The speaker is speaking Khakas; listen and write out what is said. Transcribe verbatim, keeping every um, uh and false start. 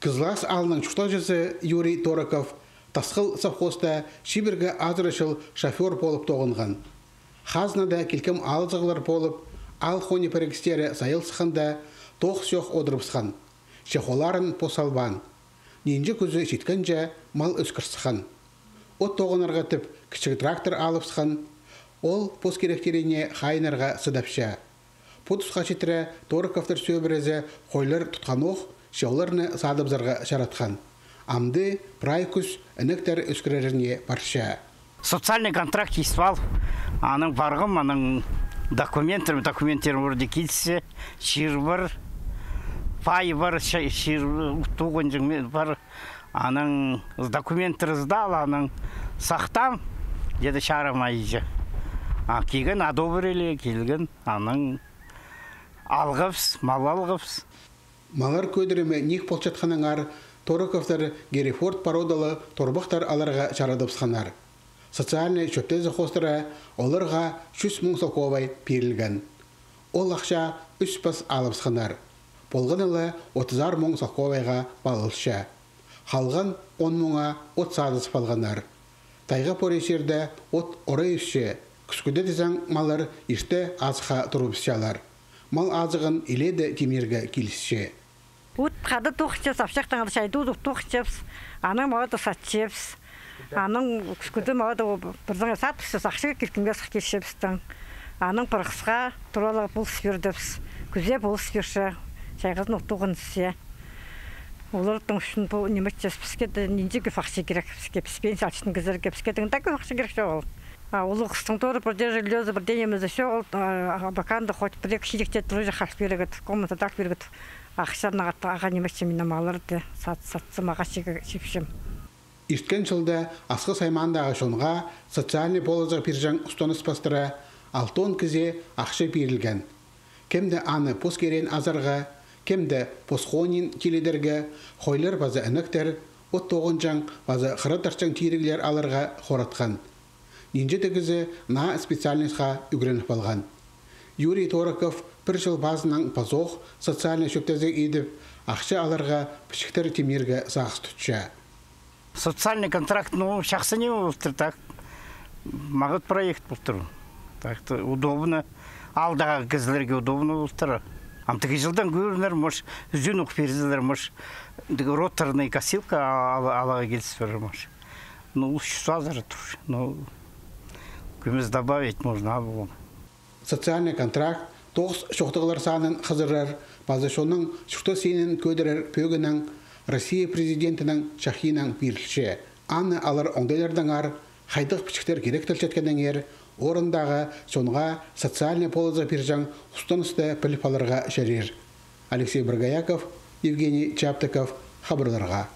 Кызлас аалның чуртағҷызы Юрий Тороков Тасхыл совхозта чибіргі азыра чыл шофёр полып тоғынған. Хазнада килкім алызығлар полып, аал хони пірігістері сайылысханда, тоғыс чох одырыбысхан. Че холларын пос албаан. Нинҷе кӱзі читкенҷе мал ӧскір сыххан. От тоғынарға тіп кічіг трактор алыбысхан. Ол пос киректеріне хайынарға сыдапча. Пу тусха читіре Тороковтар сӧбірезі хойлар тутханох, че оларны садыбызарға чаратхан. Амды прай кӱс інектер ӧскіреріне парча. Социальный контракт ис пал. Анаң парғам, анаң документтер, документтер вроде килісче, чир пар, пай пар, ча-, чир, туғанҷаң ме-, пар. Анаң документтер сдал, анаң сахтаам, где-то чарым айҷа. А килген, одобрили, килген, анаң алғабыс, мал алғабыс. Маллар кӧдірімі ниик полчатханнаңар Тороковтар Герефорд породалы торбахтар аларға чарадыбысханнар. Социальный чӧптезі хоостыра оларға чӱс муң салковай пирілген. Ол ахча ӱс пас алыбысханнар. Полғаны ла отызар муң салковайға палылча. Халған он муңа от садызып алғаннар. Тайға пори чирде от орай ӧсче, кӱскӱде тізең маллар ирте азыхха турыбысчалар. Мал азығын илееде тимнирге килісче. От хада тоғынчабыс, апчахтаң чайда удур тоғынчабыс, анаң мағаа даа сатчабыс. Анаң кӱскӱде мағаа даа пірдеңе сатыбысчабыс, ахча киркімге сых килчебістің. Анаң пырғысха туралығ полыс пирдібіс. Кӱзее полыс пирче, чайғызын от тоғынча. Оларның ӱчӱн пу ниме итчебіс, піске дее нинҷе кӧп ахча кирек, піске, піс пенсия алчатхан кізілерге, піске дее даа кӧп ахча кирек чоғыл. А улуғ хыстың торы пірдее жильёзы, пірдее нимезі чоғыл, а, а, пока анда хоть пір-ікі чиректе турарға хал пирерге, комната тағ пирерге, ахча ағаа ниме итчем, мына малларды сат-, сатсам, ағаа чиге чипчем. Ирткен чылда Асхыс аймаандағы чонға социальный полызығ пирҷең устаныс пастыра алтон кізее ахча пирілген. Кем дее аны пос киреен азарға, кем дее пос хонин тилідерге, хойлар паза інектер, от тоғынҷаң паза хыра тартчаң тиріглер аларға хоратхан. Нинҷе-де кізі наа специальностьха ӱгреніп алған. Юрий Тороков пір чыл пазынаң пазох социальный чӧптезіг идіп, ахча аларға пічіктер тимнирге сағыс тутча. Социальный контракт, ну, чахсы ниме полтыр, так. Мағат проект полтыр. Так-то удобно. Аалдағы кізілерге удобно полтыр. Ам тігі чылдаң кӧрінер, может, ӱзӱн ох пирзелер, может, тігі роторный косилка ал-, аларға киліс пирер, может. Ну, улус чӱс азыра тур. Ну, кӧмес добавить можно, а, ол. Социальный контракт тоғыс чоохтағлар санын хызырар паза чонның чуртас синін кӧдірер пӧгінең Россия Президентінің чахиинаң пирілче. Аны алар оңдайлардаңар, хайдағ пічіктер киректелчеткеннеңер, орындағы чонға социальный полызығ пирҷең устанысты піліп аларға чарир. Алексей Боргояков, Евгений Чаптыков, хабарларға.